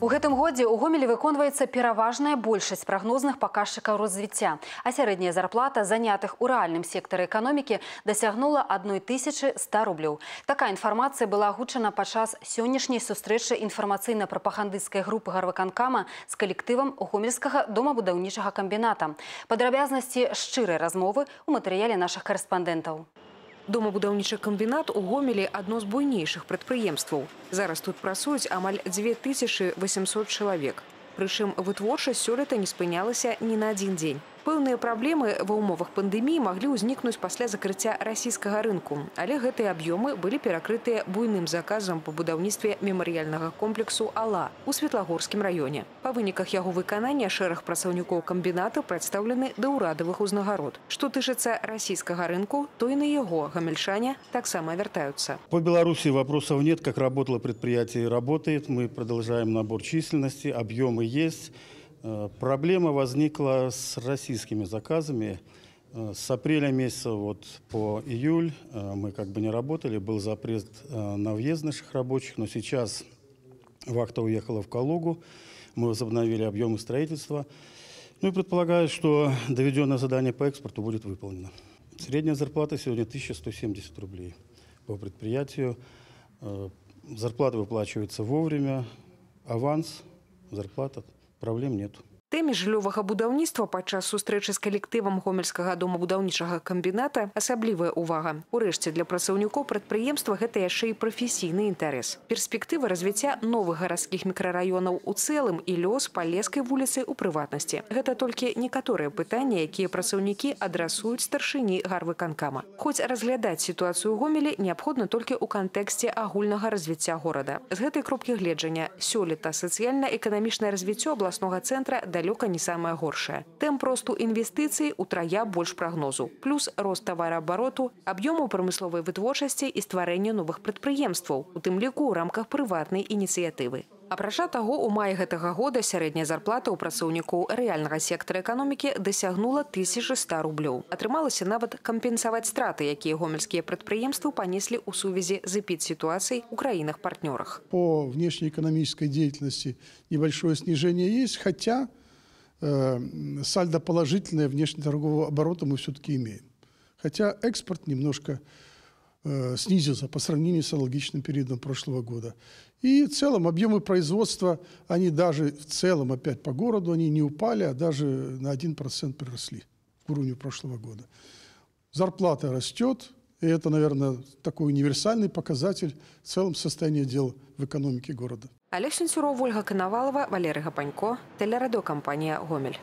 У гэтым годзе ў Гомелі выконваецца пераважная большасць прагнозных паказчыкаў развіцця, а сярэдняя зарплата занятых у рэальным сектары эканомікі дасягнула 1100 рублёў. Такая інфармацыя была агучана падчас сённяшняй сустрэчы інфармацыйна-прапагандысцкай групы гарвыканкама з калектывам гомельскага домабудаўнічага камбіната. Падрабязнасці шчырай размовы ў матэрыяле нашых карэспандэнтаў. Домабудаўнічы камбінат у Гомелі – адно з буйнейшых прадпрыемстваў. Зараз тут працуюць амаль 2800 чалавек. Прычым вытворчасць сёлета не спынялася ні на адзін дзень. Пэўныя праблемы ва ўмовах пандэміі маглі ўзнікнуць пасля закрыцця расійскага рынку, але гэтыя аб'ёмы былі перакрытыя буйным заказам па будаўніцтве мемарыяльнага комплексу «Ала» у Светлагорскім раёне. Па выніках яго выканання шэраг працаўнікоў камбіната прадстаўлены да ўрадавых узнагарод. Што тычыцца расійскага рынку, то і на яго гамельчане таксама вяртаюцца. По Беларуси вопросов нет, как работало предприятие, работает. Мы продолжаем набор численности, объемы есть. Проблема возникла с российскими заказами. С апреля месяца по июль мы не работали, был запрет на въезд наших рабочих, но сейчас вахта уехала в Калугу, мы возобновили объемы строительства. Ну и предполагаю, что доведенное задание по экспорту будет выполнено. Средняя зарплата сегодня 1170 рублей по предприятию. Зарплата выплачивается вовремя, аванс, зарплата. Праблем нет. Тэме жыллёвага будаўніцтва падчас сустрэчы з калектывам гомельскага домабудаўнічага камбіната асаблівая ўвага. Урэшце, для працаўнікоў прадпрыемства гэта яшчэ і прафесійны інтарэс. Перспектыва развіцця новых гарадскіх мікрараёнаў у цэлым і лёс Палескай вуліцы ў прыватнасці. Гэта толькі некаторыя пытанні, якія працаўнікі адрасуюць старшыні гарвыканкама. Хоць разглядаць сітуацыю ў Гомелі неабходна толькі ў кантэксце агульнага развіцця горада. З гэтай кропкі гледжання сёлета сацыяльна-эканамічнае развіццё абласнога цэнтра далёка не самае горшае. Тэмп росту інвестыцый утрая больш прагнозу. Плюс рост тавараабароту, аб'ёму прамысловай вытворчасці і стварэння новых прадпрыемстваў, у тым ліку ў рамках прыватнай ініцыятывы. Апрача таго, у маі гэтага года сярэдняя зарплата ў працаўнікоў рэальнага сектара эканомікі дасягнула 1100 рублёў. Атрымалася нават кампенсаваць страты, якія гомельскія прадпрыемствы панеслі ў сувязі з эпідситуацией у краінах-партнёрах. По внешнеэкономической деятельности небольшое снижение есть, хотя сальдо положительное внешнеторгового оборота мы все-таки имеем. Хотя экспорт немножко снизился по сравнению с аналогичным периодом прошлого года. И в целом объемы производства, они даже в целом опять по городу, они не упали, а даже на 1% приросли к уровню прошлого года. Зарплата растет, и это, наверное, такой универсальный показатель в целом состояния дел в экономике города. Олег Сенцюров, Ольга Коновалова, Валерий Гапанько, телерадиокомпания «Гомель».